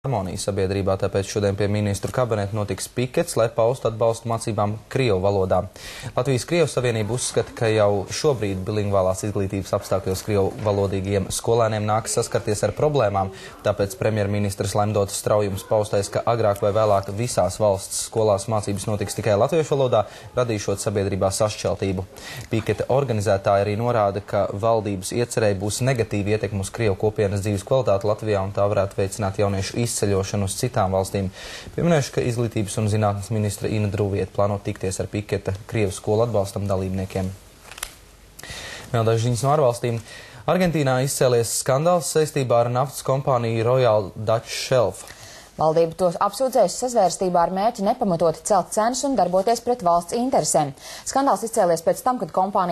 harmonija sabiedrībā, tāpēc šodien pie ministru kabineta notiks pikets, lai paustu atbalstu mācībām krievu valodā. Latvijas-Krievu savienība uzskata, ka jau šobrīd bilingvālās izglītības apstākļos krievu valodīgiem skolēniem nāks saskarties ar problēmām, tāpēc premjerministrs Lemdots Straujums paustais, ka agrāk vai vēlāk visās valsts skolās mācības notiks tikai latviešu valodā, radīšot sabiedrībā sašķeltību. Piketa organizētāji arī norāda, ka valdības iecerēji būs negatīva ietekme uz krievu kopienas dzīves kvalitāti Latvijā un tā varētu veicināt jauniešu izceļošanu uz citām valstīm. Pieminēšu, ka izglītības un zinātnes ministra Ina Drūvieta plāno tikties ar piketa krievu skolu atbalstam dalībniekiem. Vēl daži ziņas no ārvalstīm. Argentīnā izcēlies skandāls saistībā ar naftas kompāniju Royal Dutch Shelf. Valdība tos apsūdzējusi sazvērstībā ar mērķi nepamatoti celt cenas un darboties pret valsts interesēm. Skandāls izcēlies pēc tam, kad kompānija